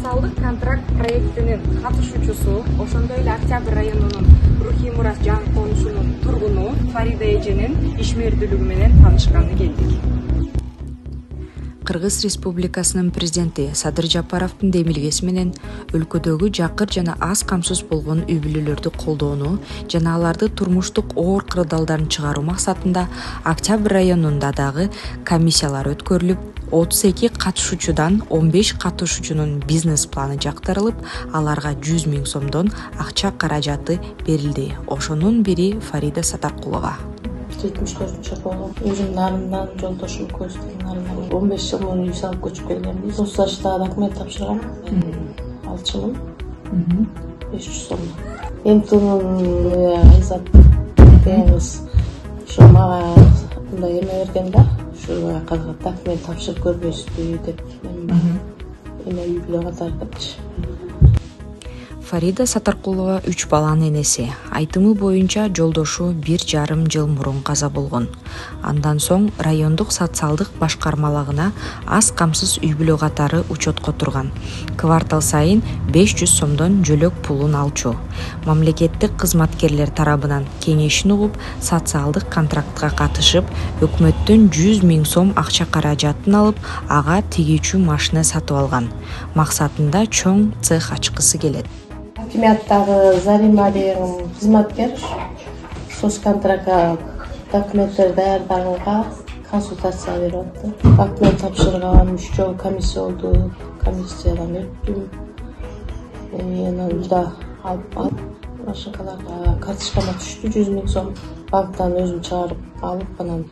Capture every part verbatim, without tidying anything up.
социалдык контракт проектинин катышуучусу, ошондой эле Октябрь районунун Рухий Мурат жаңы конушунун тургуну Фарида эженин ишмердүүлүгү менен таанышканы келдик. Кыргыз Республикасынын президенти Садыр Жапаровдун демилгеси менен өлкөдөгү жакыр жана аз камсыз болгон үй бүлөлөрдү колдоону жана аларды турмуштук оор кырдаалдарын чыгаруу максатында Октябрь районунда дагы комиссиялар өткөрүлүп, отуз эки катышуучудан он беш катышуучунун бизнес планы жактырылып, аларга жүз миң сомдон акча каражаты берилди. Ошонун бири Фарида Сатаркулова. жетимиш төртүнчү болуп, өзүмдүн нарымдан, жолдошум көздөрүн нарымдан он беш жыл мурун үй салып көчүп келгенбиз. Тоғыз жаштагы документ тапшыргам. Алчымын. беш жүз сом. Эмтунун Айзат деген кыз ошо мага мындай эме берген да, ушу документ тапшырып көрбөйсүзбү деп. Мен эме үй бүлө катары депчи. Фарида Сатаркулова үч баланын энеси. Айтымы боюнча жолдошу бир жарым жыл мурун каза болгон. Андан соң райондук социалдык башкармалыгына аз камсыз үй бүлө катары учетко турган. Квартал сайын беш жүз сомдон жөлөк пулун алчу. Мамлекеттик кызматкерлер тарабынан кеңешин угуп, социалдык контрактка катышып, өкмөттөн жүз миң сом акча каражатын алып, ага тигүүчү машина сатып алган. Максатында чоң цех ачкысы келет. Хакимияттагы Зарима деген кызматкер соцконтрактка документтер даярдаганга консультация берип атты. Документ тапшырган, үч жолу комиссия болду, комиссиядан өттүм. Анан да алып алып, машинкаларга карточкама түштү жүз миң сом. Банктан өзүм чыгарып алып, анан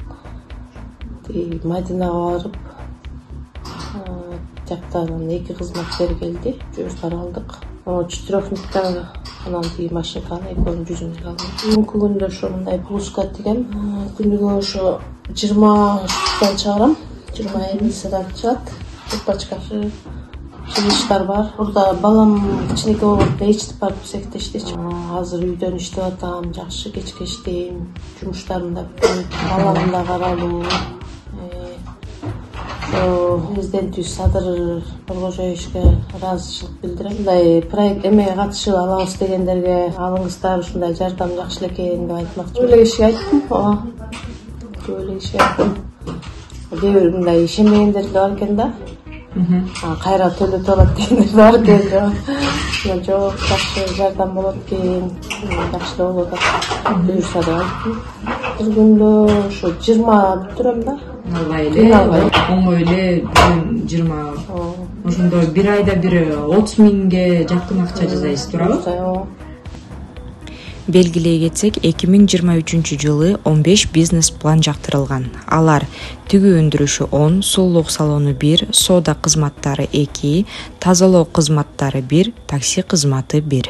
Мадинага барып, жактан эки кызматкер келди, жүздөр алдык. Четырехмингтен анан тиги машинканы экөөнүн жүзүнө алдым. Бүгүнкү күндө ошо мындай плюска тиген. Күнүгө ошо жыйырма үчтөн чыгарам, жыйырма элүүсүнөн чыгат. Пачкасы чыгыштар бар. Бурда балам кичинекей болгондо эчтип барып секте иштечү. Азыр үйдөн иштеп атам, жакшы кечке иштейм. Жумуштарым да көп, балам да каралуу. Президентибиз Садыр Нуркожоевичке ыраазычылык билдирем. Мындай проект эмеге катышып алабыз дегендерге алыңыздар, ушундай жардам жакшы экен деп айтмакчы. Көп эле кишиге айттым, ооба. Көп эле кишиге айттым. Кээ бир мындай ишенбегендер да бар экен да. Кайра төлөтүп алат дегендер бар экен. Жок, жакшы жардам болот экен, жакшы болуп атат. Буюрса деп айттым. Бир күндө ошо жыйырма бүтүрөм да. Албай эле, оңой эле жыйырма. Ошондо бир айда бир отуз миңге жакын акча жасайсыз, туурабы? Белгилей кетсек, эки миң жыйырма үчүнчү жылы он беш бизнес план жактырылган. Алар тигүү өндүрүшү он, сулуулук салону бир, соода кызматтары эки, тазалоо кызматтары бир, такси кызматы бир.